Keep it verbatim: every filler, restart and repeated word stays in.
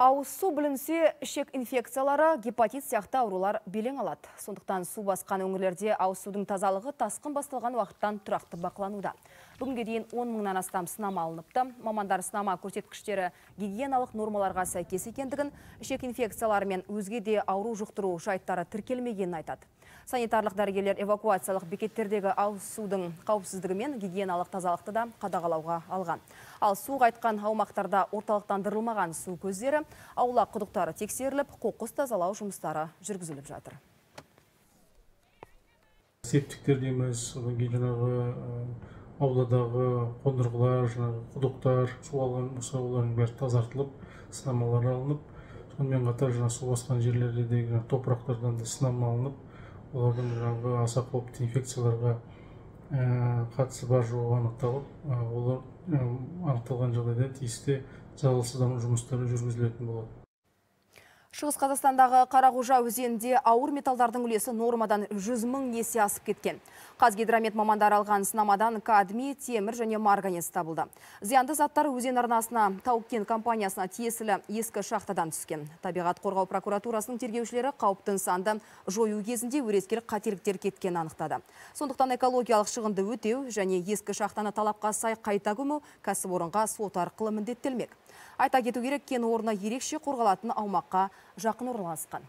Ауыз су білінсе, ішек инфекциялары, гепатит сияқты аурулар белең алады. Сондықтан су басқан өңірлерде ауыз судың тазалығы тасқын басталған уақыттан тұрақты бақылануда. Бүгінге дейін он мыңнан астам сынама алыныпты. Мамандар сынама көрсеткіштері гигиеналық нормаларға сәйкес екендігін, ішек инфекциялары мен өзге де ауру жұқтыру жайттары тіркелмегенін айтады. Санитарлық дәрігерлер эвакуациялық бекеттердегі ауыз судың қауіпсіздігі мен гигиеналық тазалықты да қадағалауға алған. Ал су қайтқан аумақтарда орталықтандырылмаған су көздері, аула құдықтары тексеріліп, қоқыс тазалау жұмыстары жүргізіліп жатыр. Септиктер дейміз, одан кейін жаңағы ауладағы қондырғылар, жаңағы құдықтар, су алған болса, олардың бәрі тазартылып, сынамалар алынып, сонымен қатар жаңағы су басқан жерлердегі топырақтардан да сынама алынып, олардың жаңағы аса қауіпті инфекцияларға қатысы бар жоғы анықталып, олар анықталған жағдайда тиісті залалсыздандыру жұмыстары жүргізілетін болады. Шығыс Қазақстандағы Қарақожа өзенінде ауыр металдардың үлесі нормадан жүз мың есе асып кеткен. Қазгидромет мамандар алған сынамадан кадмий, темір және марганец табылды. Зиянды заттар өзен арнасына Тау-кен компаниясына тиесілі ескі шахтадан түскен. Табиғат қорғау прокуратурасының тергеушілері қауіпті нысанды жою кезінде өрескел қателіктер кеткенін анықтады. Сондықтан экологиялық шығынды өтеу және ескі шахтаны талапқа сай қайта көму кәсіпорынға сот арқылы міндеттелмек. Айта кету керек, кен орны ерекше қорғалатын аумаққа жақын орналасқан.